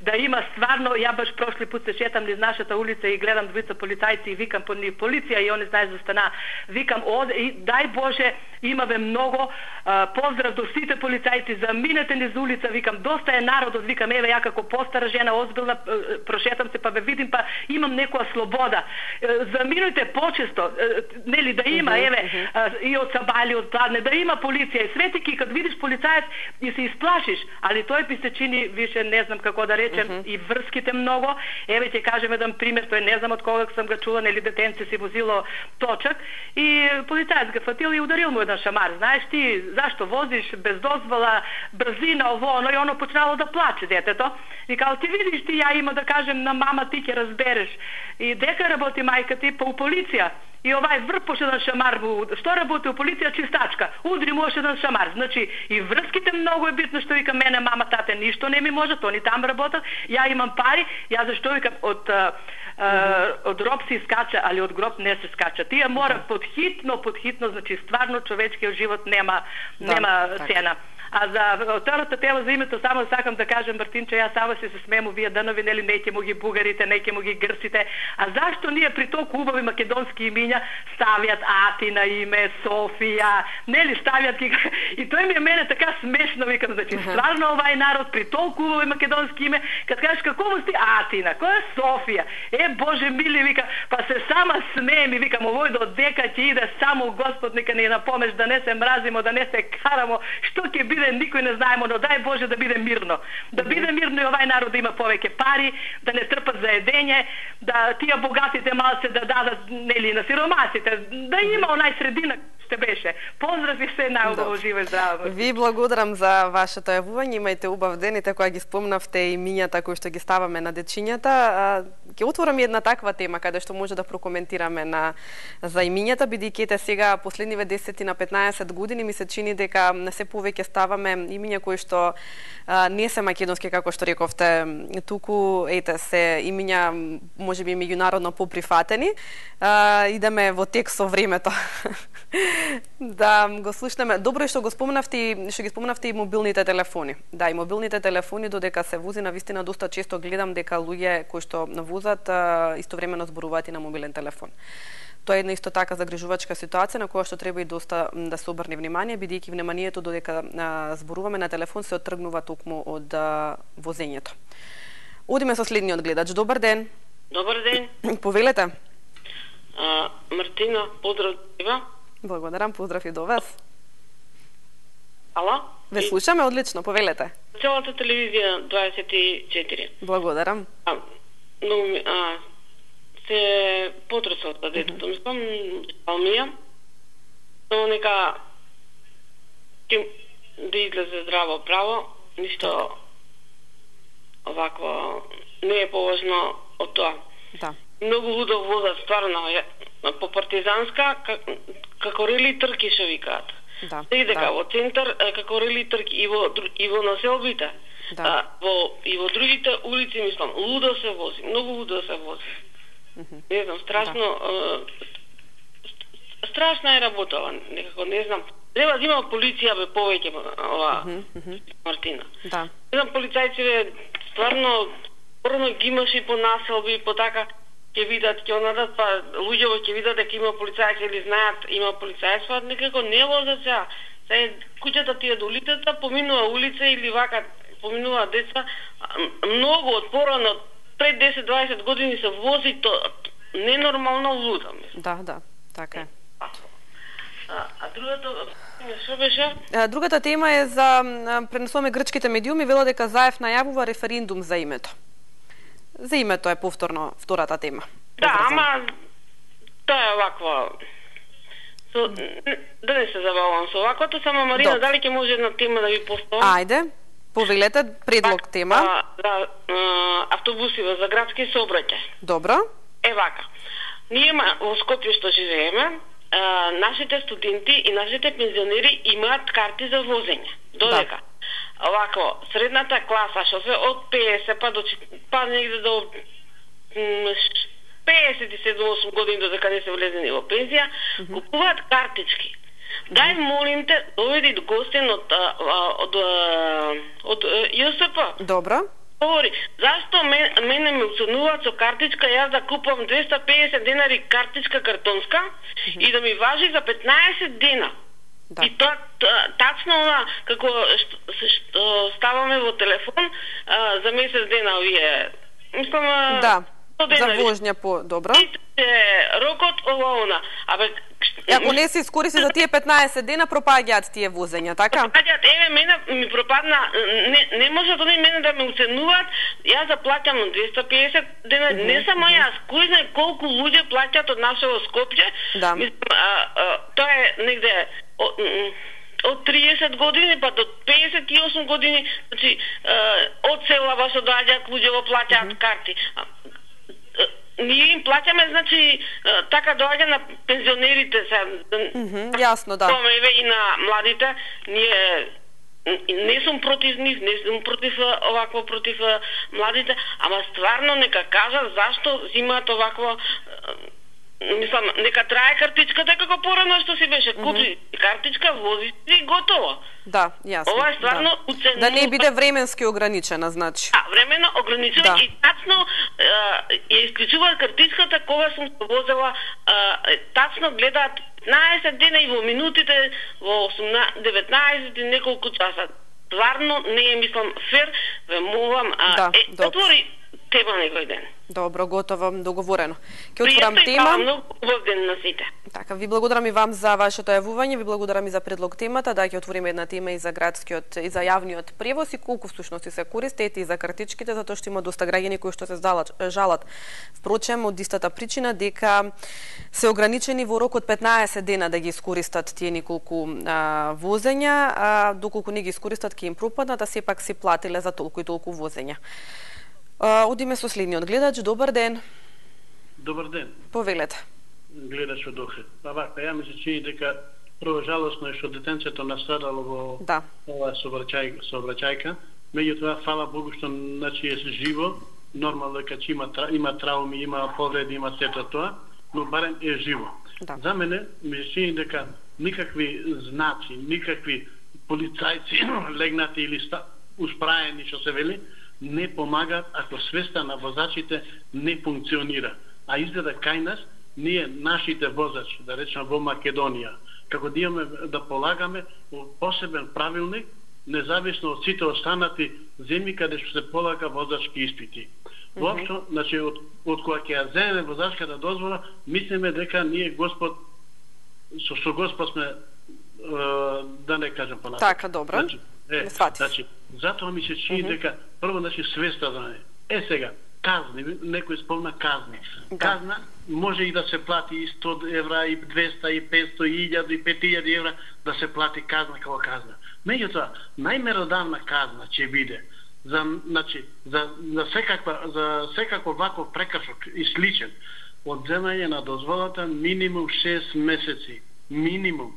да има стварно, ја баш прошли пут се шетам низ нашата улица и гледам двица полицајци и викам по нив полиција и они знаеш за стана. Викам, дај Боже, имаве многу, поздрав до сите полицајци, заминете низ улица, викам, доста е народот, викам, еве ја како постара жена, озбилна, прошетам се, па ве видим, па имам некоја слобода. Заминујте почесто, нели, да има, еве, и од Сабали, од Кладне, да има полиција. И светики, кад видиш полицаец и се исплашиш, али тој би се чини, више не знам како да речем, и врските многу. Еве ќе кажем еден пример, тој не знам од кога сам го чула, нели, детенце си возило точак и полицаец го фатил и ударил му еден шамар. Знаеш ти зашто возиш без дозвола, брзина, ово, оно, и оно почнало да плаче детето. И као ти видиш ти, ја има да кажем на мама, ти ќе разбереш. И дека работи мајка ти? Па у полиција. И овај врпош еден шамар, што работи у полиција, чистачка, удри му ош еден шамар. Значи, и врските многу е битно, што вика мене, мама, тате, ништо не ми може, они там работат, ја имам пари, ја зашто викам, од роб се искача, али од гроб не се скача. Тие мора подхитно, значи, стварно човечкиот живот нема цена. А за втората тема за името само сакам да кажам, Мартинче, јас само се смеем овие данови, нели, неќе му ги бугарите, неќе му ги грците. А зашто ние при толку убави македонски имиња ставјат Атина име, Софија, нели, ставјат ги... И тој ми е мене така смешно, викам, значи, стварно овај народ при толку убави македонски име, кад кажеш како му сти Атина, која е Софија? Боже мили, вика, па се сама смеем и викам, овој до дека ќе иде само Господ, нека ни напомеш да не се мразимо, да не се карамо, што ќе биде никој не знаемо, но дај Боже да биде мирно. Да биде мирно и овај народ да има повеќе пари, да не трпат за едење, да тие богатите малце да дадат, нели, на сиромасите, да има онај средина што беше. Поздрави се, најубаво, живо и здраво. Ви благодарам за вашето јавување, имајте убав ден и кога ги спомнавте имињата кои што ги ставаме на дечињата. Ќе отворам една таква тема каде што може да прокоментираме за имињата, бидејќи сега последниве 10 на 15 години ми се чини дека не се повеќе ставаме имиња кои што не се македонски, како што рековте, туку се имиња можеби меѓународно поприфатени. Идеме во тек со времето. Да го слушнеме. Добро е што ги спомнавте и мобилните телефони. Да, и мобилните телефони, додека се вози, навистина доста често гледам дека луѓе кои што возат истовремено зборуваат и на мобилен телефон. Тоа е една исто така загрижувачка ситуација на која што треба и доста да се обрне внимание, бидејќи вниманието додека зборуваме на телефон се оттргнува токму од возењето. Одиме со следниот гледач. Добар ден. Добар ден. Повелете. Мартина, поздрав тебе. Благодарам, поздрав и до вас. Ало? Ве слушаме одлично, повелете. Целата телевизија 24. Благодарам. Се потресо од детето. Мислам, Алмија, но нека да излезе здраво право, ништо овакво не е поважно од тоа. Да. Многу лудо возат, стварно, по партизанска, како рели трки шо викаат. Да. Дека во центар, како рели трки, и во населбите, и во другите улици, мислам, лудо се вози, многу лудо се вози. Не знам, страшно, страшна е работа, некако, не знам. Треба да има полиција, бе, повеќе, ова, Мартина. Да. Не знам, полицајци, стварно, порно ги имаш и по населби, по така, ќе видат, ќе онадат, па луѓето ќе видат дека има полицајци или знаат има полицајство, некако не возат сега. Сега куќата тие до улицата, поминува улица или вака, поминува деца, многу од порано, пред 10-20 години се вози то ненормално луда. Да, така е. А другата, што беше? Другата тема е за пренесуваме грчките медиуми, вела дека Заев најавува референдум за името. За името е повторно втората тема. Да, ама тоа е ваква. Да не се забавам со ваквото, само Марина, дали ќе може една тема да ви поставам? Ајде, повелете, предлог тема. Да, автобусиве за градски сообраќај. Добро. Вака. Ние во Скопје што живееме, нашите студенти и нашите пензионери имаат карти за возење. Додека овако средната класа што се од 50 па негде до 57-8 години додека не се влезени во пензија, купуваат картички. Дај молим те, доведи гостин од ЈСП. Добро. Говори, зашто мене ме уценуваат со картичка, јас да купам 250 денари картичка картонска и да ми важи за 15 дена. Да. И тоа тачно она како што ставаме во телефон за месец дена овие. Мислам да. За возња по добро. Рокот ова. Ако не се искористи за тие 15 дена, пропаѓаат тие возења, така? Пропаѓаат, мене ми пропадна, не може да мене да ме уценуваат, јас да плаќам 250 дена, не само јас, кој знае колку луѓе плаќаат од нашето Скопје, тоа е негде од 30 години па до 58 години, значи од села баш доаѓаат луѓе во плаќаат карти. Ние им плаќаме, значи, така доаѓа на пензионерите се. Јасно, да. И на младите, ние не сум против нив, не сум против овакво, против младите, ама стварно нека кажат зашто зимаат овакво мислам, нека трае картичката како порано што си беше. Купи картичка, вози и готово. Да, јасно. Ова е стварно уценува. Да не биде временски ограничена, значи. Времено ограничена и тачно ја исклучуваат картичката кога сум се возела, тачно гледаат 15 дена и во минутите, во 19 и неколку часа. Стварно не е, мислам, фер, ве молам, отвори тема некој ден. Добро, готово, договорено. Ќе отворам тема. Пријатно и многу ден на сите. Така, ви благодарам и вам за вашето јавување, ви благодарам и за предлог темата, да ќе отвориме една тема и за градскиот и за јавниот превоз и колку всушност се користат и за картичките, затоа што има доста граѓани кои што се жалат. Впрочем, од истата причина дека се ограничени во рок од 15 дена да ги искористат тие неколку возења, доколку не ги искористат ќе им пропаднат, а сепак се платиле за толку и толку возења. Одиме со следниот гледач. Добар ден. Добар ден. Повелете. Гледач од Охрид. Вака, ја ми се чини дека прво жалосно е што детенцето настрадало во оваа сообраќајка. Меѓутоа, фала Богу што значи е живо, нормално дека има трауми, има повреди, има сето тоа, но барем е живо. За мене ми се чини дека никакви знаци, никакви полицајци легнати или успраени што се вели, не помагаат ако свеста на возачите не функционира. А изгледа кај нас, ние, нашите возачи, да речем во Македонија, како да имаме да полагаме посебен правилник, независно од сите останати земји каде што се полага возачки испити. Воопшто, значи, од кога ќе ја земеме возачката дозвола, мислиме дека ние Господ, со Господ сме, да не кажам понатаму. Така, добро. Значи, затоа ми се чини дека прво свеста да не. Сега, казни, некој спомна казни. Казна може и да се плати и 100 евра, и 200, и 500, и 1000, и 5000 евра да се плати казна како казна. Меѓутоа, најмеродавна казна ќе биде за секаков ваков прекршок и сличен одземање на дозволата минимум 6 месеци. Минимум.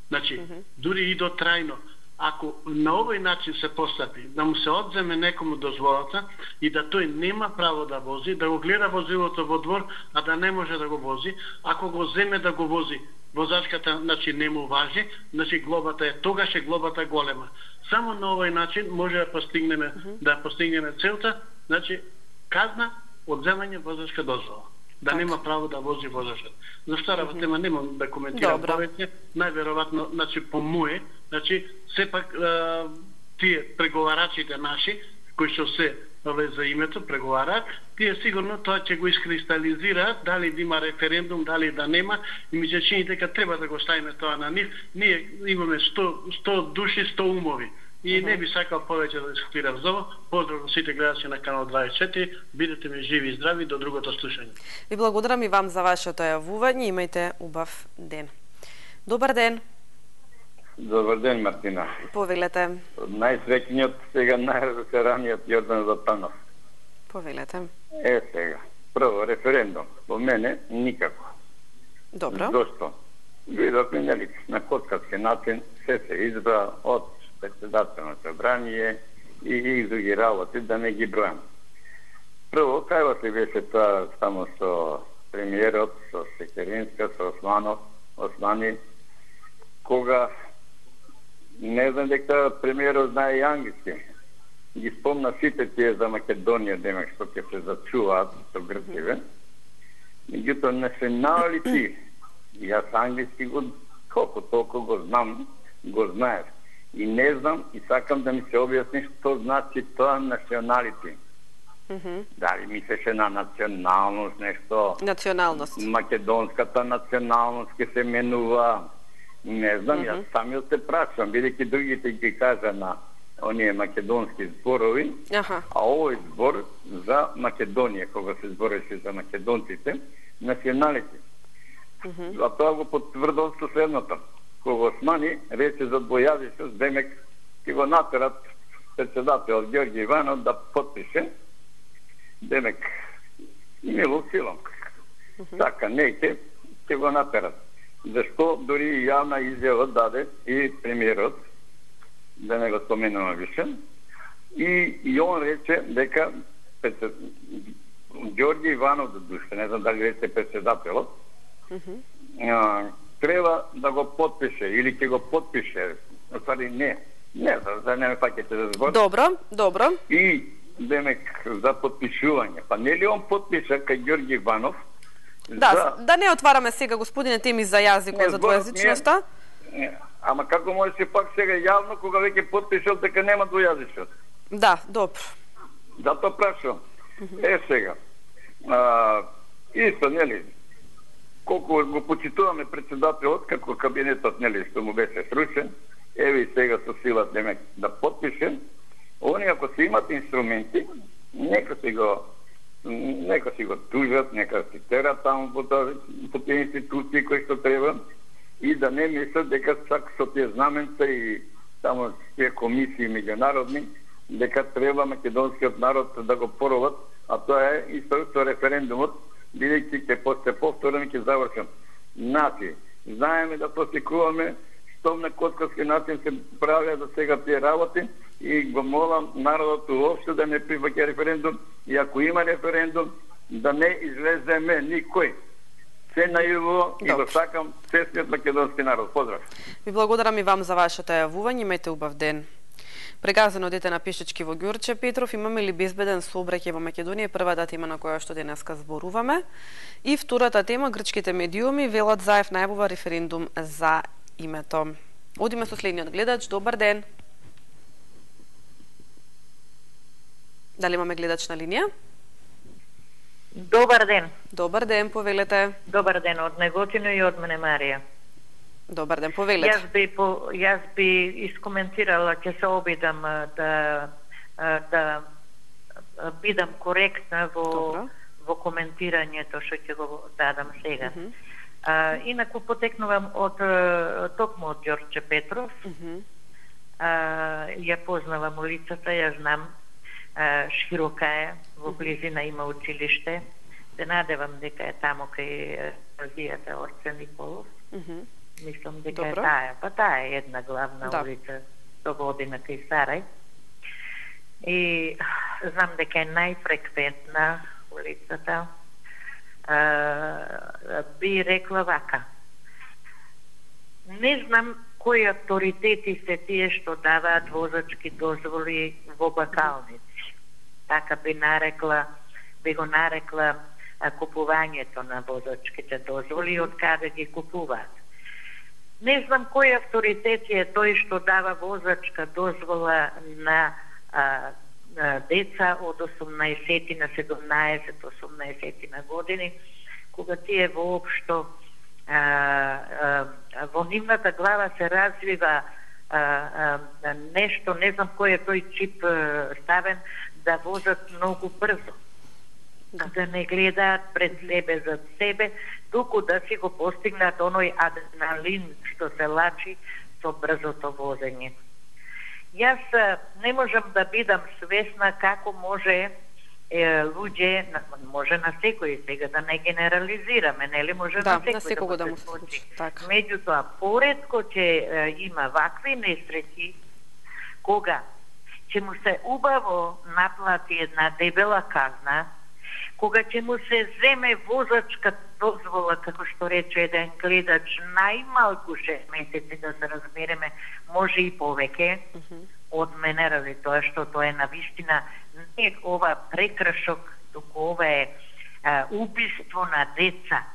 Значи, дури и до трајно. Ако на овој начин се постапи, да му се одземе некому дозволата и да тој нема право да вози, да го гледа возилото во двор, а да не може да го вози, ако го земе да го вози, возачката, значи, не му важи, значи глобата е, тогаш е глобата голема. Само на овој начин може да постигнеме целта, значи, казна, одземање возачка дозвола. Да нема право да вози возачот. За втората тема немам да коментирам повеќе, најверојатно, значи, по моје, значи, сепак тие преговарачите наши, кои што се за името преговараат, тие сигурно тоа ќе го искристализираат, дали да има референдум, дали да нема, и ми се чини дека треба да го ставиме тоа на нив. Ние имаме 100 души, 100 умови. И не би сакал повеќе да дискутирам за ово. Поздрав на сите гледачи на канал 24. Бидете ми живи и здрави до другото слушање. Ви благодарам и вам за вашето јавување. Имајте убав ден. Добар ден. Добар ден, Мартина. Повелете. Најсреќниот, сега најразочараниот Јордан Златанов. Повелете. Сега. Прво, референдум. По мене, никако. Добро. Зошто? Видовме, нели, на коткарски начин се избра од председателно собрание и други работи, да не ги бројам. Прво, кај ли беше тоа само со премиерот, со Секеринска, со Османи, кога не знам дека премиерот знае и англиски. Ги спомна сите тие за Македонија, демек што ќе се зачуваат со Грциве. Меѓутоа, националити, јас англиски го колку толку го знам, го знаеш. И не знам, и сакам да ми се објасни што значи тоа националити. Дали мислеше на националност, нешто... Националност. Македонската националност ќе се менува. Не знам, јас самиот се прашам, бидејќи другите ги кажа на оние македонски зборови, а овој збор за Македонија, кога се збореше за македонците, националити. А тоа го потврдил со следното. Кога Османи рече за Бојавишот, демек ќе го натерат председател Ѓорѓе Иванов да потпише, демек мило силом. Така, неќе ќе го натерат. Зашто дури и јавна изјава даде и премиерот, да не го споменувам више, и он рече дека Ѓорѓе Иванов, не знам дали рече председателот, треба да го потпише или ќе го потпише, ствари не, за не ме фаќате за збор. Добро. И демек за потпишување, па нели он потпиша кај Ѓорѓи Иванов? Да не отвараме сега, господине, теми за јазикот, за двојазичноста. Ама како може се пак сега јавно кога веќе потпишал дека нема двојазичност? Да, добро. Затоа прашувам. Сега. Исто, нели, колку го почитуваме председателот, како кабинетот, нели, што му беше срушен, еве и сега со сила да подпишем, они ако се имат инструменти, нека си го тужат, нека си терат таму по тие институции кои што треба и да не мислат дека чак со тие знаменца и таму тие комисии меѓународни, дека треба македонскиот народ да го пороват, а тоа е исто со референдумот, бидејќи ќе се повторам и ќе завршам. Значи, знаеме да постикуваме што на коткарски начин се правеа за сега тие работи и го молам народот уопште да не прифаќа референдум и ако има референдум да не излеземе никој. Се најаво и го сакам честниот македонски народ. Поздрав. Ви благодарам и вам за вашето јавување, имајте убав ден. Прегазено дете на пешички во Ѓурче Петров, имаме ли безбеден сообраќај во Македонија? Првата тема на која што денеска зборуваме. И втората тема, грчките медиуми велат Заев најавува референдум за името. Одиме со следниот гледач. Добар ден. Дали имаме гледач на линија? Добар ден. Добар ден, повелете. Добар ден, од Неготино и од мене Марија. Добар ден, повелете. Јас би искоментирала, ќе се обидам да бидам коректна во коментирањето што ќе го дадам сега. Инаку потекнувам токму од Ѓорче Петров. Ја познавам улицата, ја знам. Широка е, во близина има училиште. Се надевам дека е тамо кај гимназијата Орце Николов. Мислам дека е таа. Па таа е една главна улица до година кај Сарај. И знам дека е најфреквентна улицата. Би рекла вака. Не знам кои авторитети се тие што даваат возачки дозволи во бакалници. Така би го нарекла купувањето на возачките дозволи и од каде ги купуваат. Не знам кој авторитет е тој што дава возачка дозвола на деца од 18 на 17-18 на години, кога тие воопшто во нивната глава се развива нешто, не знам кој е тој чип ставен, да возат многу брзо. Да не гледаат пред себе за себе, туку да си го постигнат оној адреналин што се лачи со брзото возење. Јас не можам да бидам свесна како може луѓе, може на секој сега да не генерализираме, нели може на секој да му се случи. Меѓутоа, поретко ќе има вакви несреќи кога ќе му се убаво наплати една дебела казна, кога ќе му се земе возачка дозвола, како што рече еден гледач, најмалку 6 месеци, да се разбереме, може и повеќе од мене, ради тоа што тоа е навистина не ова прекрашок, туку ова е убиство на деца.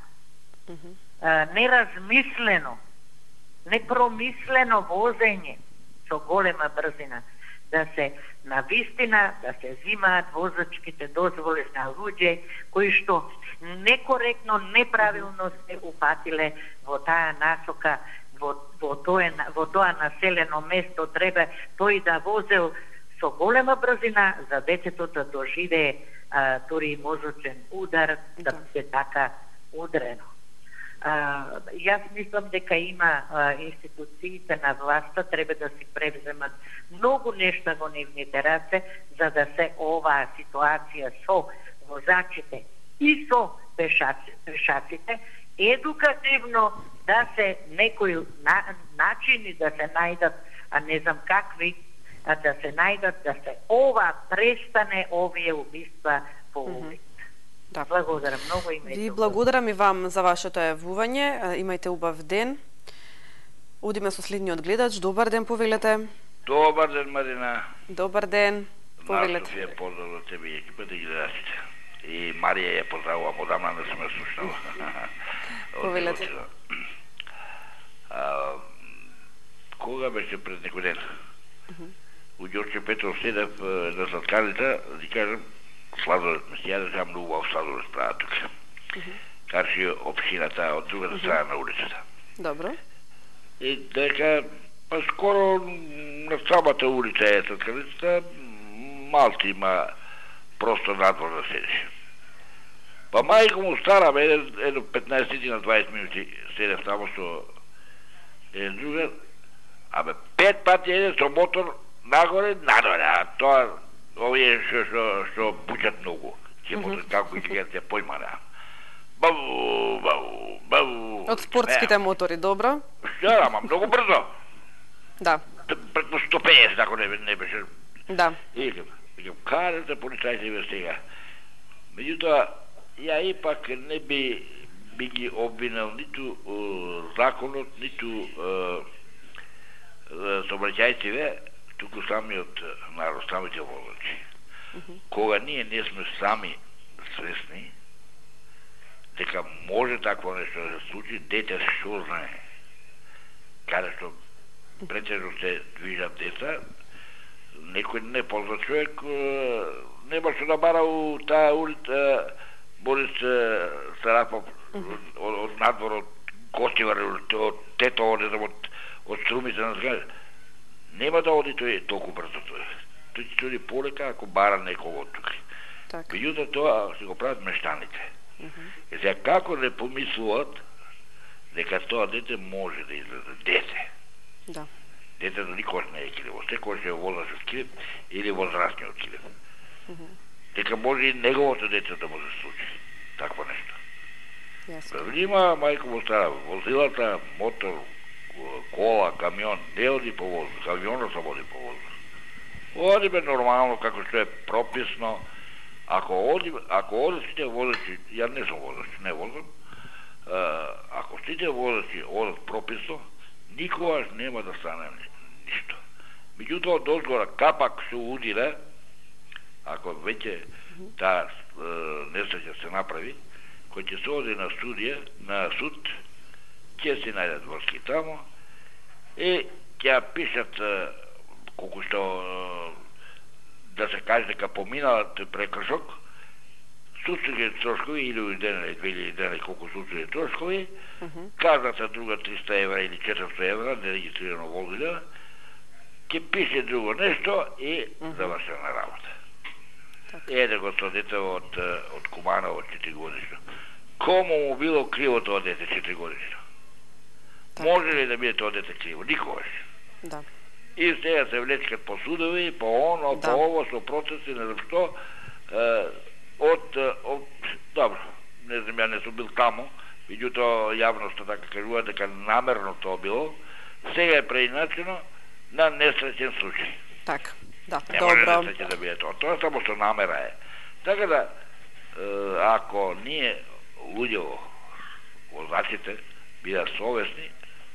Неразмислено, непромислено возење со голема брзина. Да се навистина, да се зимаат возачките дозволи на луѓе кои што некоректно, неправилно се упатиле во таа насока, во тоа населено место, треба тој да возел со голема брзина за детето да доживее дури и мозочен удар, да се така удрено. Јас мислам дека има институциите на власта треба да си превземат многу нешта во нивните раце за да се оваа ситуација со возачите и со пешаците едукативно да се некои начини да се најдат, а не знам какви, да се најдат, да се ова престане овие убиства по улица. Да. Благодарам многу, имајте. Ви благодарам и вам за вашето јавување. Имајте убав ден. Одиме со следниот гледач. Добар ден, повелете. Добар ден, Марина. Добар ден, повелете. Најсофија поздрав за тебе и екипата и гледачите. И Марија ја поздравувам, одамна не сме слушнала. Повелете. Кога беше пред некој ден? У Ѓорче Петров седев на сладкарница, да кажам, сладолет ме сјаде, сега многу убав сладолет правя тука. Карши општината од другата страна на улицата. Добро. И дека, па скоро на самата улица е сладкарницата, малки има простор надвор да седиш. Па мајка му стара, едно 15 на 20 минути седев тамо со еден другар, абе 5 пати еден со мотор нагоре, надоре, а тоа овие што пучат многу. Ќе мотор како и ќе појмане. Бау, бау, бау. Од спортските мотори, добро? Да, ама многу брзо. Да. Преку 150, ако не беше. Да. И викам, карате полицајци ве сега. Меѓутоа, ја ипак не би ги обвинал ниту законот, ниту сообраќајците, туку самиот народ, самите возачи. Кога ние не сме сами свесни дека може такво нешто да се случи, дете што знае. Каде што претежно се движат деца, некој непознат човек нема што да бара у таа улица Борис Сарапов од надвор, од Костивар, од Тето, не знам, од Струмица на зграда. Нема да оди тој толку брзо тој. Тој ќе оди полека ако бара некого од тука. Меѓутоа тоа се го прават мештаните. И сега како не помислуват дека тоа дете може да излезе дете. Да. Детето никош не е киливо, секој е возрастен килив или возрастниот килив. Дека може и неговото дете да може да случи такво нешто. Внима, мајко му стара, возилата, мотор, кола, камион, не оди по воздух, камионот се води по воздух. Оди бе нормално, како што е прописно. Ако оди сите возачи, ја не сум возач, не возам, ако сите возачи одат прописно, никогаш нема да стане ништо. Меѓутоа, дозгора капак се удира, ако веќе таа несреќа се направи, кој ќе се оди на судија, на суд, ќе се најдат врски тамо и ќе пишат колку што да се каже дека поминалат прекршок, судски трошкови, 1000 дена, 2000 дена, колку судски трошкови, казната друга 300 евра или 400 евра, нерегистрирано возиле, ќе пише друго нешто и завршена работа. Еде го со дете од Кумана од 4 годишно. Кому му било криво тоа дете 4 годишно? Може ли да биде тоа дете криво? Никогаш. Да. И сега се влечкат по судови, по оно, по ово, со процеси, не знам што, добро, не знам, ја не сум бил тамо, меѓутоа јавноста така кажува дека намерно тоа било, сега е преиначено на несреќен случај. Така, да, не добро. Не може несреќен да биде тоа, тоа само што намера е. Така да, ако ние, луѓево, возачите, бидат совесни,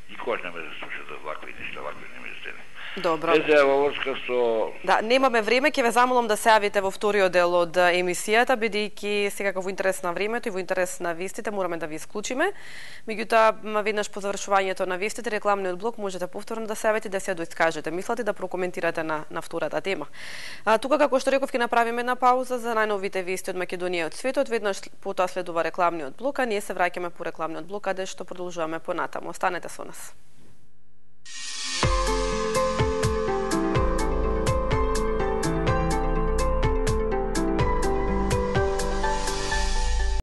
никогаш не ме да слушат за вакви нешта, вакви неместени. Добро. Езе во врска со... Да, немаме време, ќе ве замолам да се јавите во вториот дел од емисијата, бидејќи секако во интерес на времето и во интерес на вестите мораме да ви исклучиме. Меѓутоа, веднаш по завршувањето на вестите, рекламниот блок можете повторно да се јавите да се доискажете мислите, да прокоментирате на втората тема. Тука, како што реков, ќе направиме една пауза за најновите вести од Македонија и од светот. Веднаш потоа следува рекламниот блок, а ние се враќаме по рекламниот блок, каде што продолжуваме понатаму. Останете со нас.